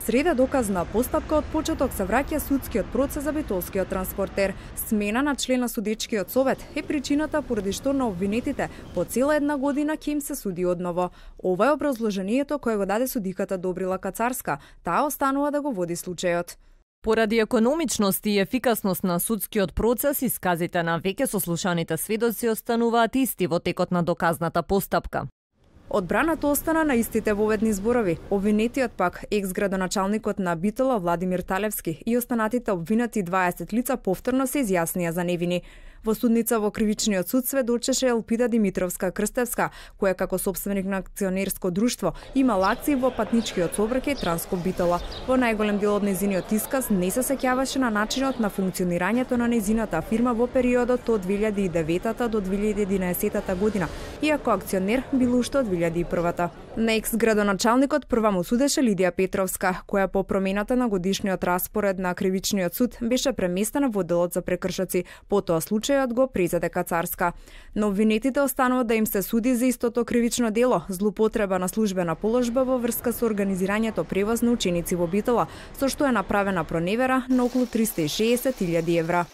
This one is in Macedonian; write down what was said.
среда доказна постапка од почеток се враќа судскиот процес за битолскиот транспортер. Смена на член на судечкиот совет е причината поради што на обвинетите по цела една година ќе им се суди одново. Ова е образложението кое го даде судиката Добрила Кацарска. Таа останува да го води случајот. Поради економичност и ефикасност на судскиот процес, исказите на веќе сослушаните сведоци остануваат исти во текот на доказната постапка. Одбраната остана на истите воведни зборови. Обвинетиот пак, екс-градоначалникот на Битола Владимир Талевски и останатите обвинати 20 лица повторно се изјаснија за невини. Во судница во Кривичниот суд сведочеше Елпида Димитровска Крстевска, која како сопственик на акционерско друштво имала акции во патничкиот сообраќај Транскоп Битола. Во најголем дел од нејзиниот исказ не се сеќаваше на начинот на функционирањето на нејзината фирма во периодот од 2009 до 2011 година, иако акционер бил уште од 2001. На екс-градоначалникот прва му судеше Лидија Петровска, која по промената на годишниот распоред на Кривичниот суд беше преместена во делот за прекршоци, потоа случајот го презеде Кацарска. Но обвинетите останува да им се суди за истото кривично дело, злоупотреба на службена положба во врска со организирањето превоз на ученици во Битола, со што е направена проневера на околу 360.000 евра.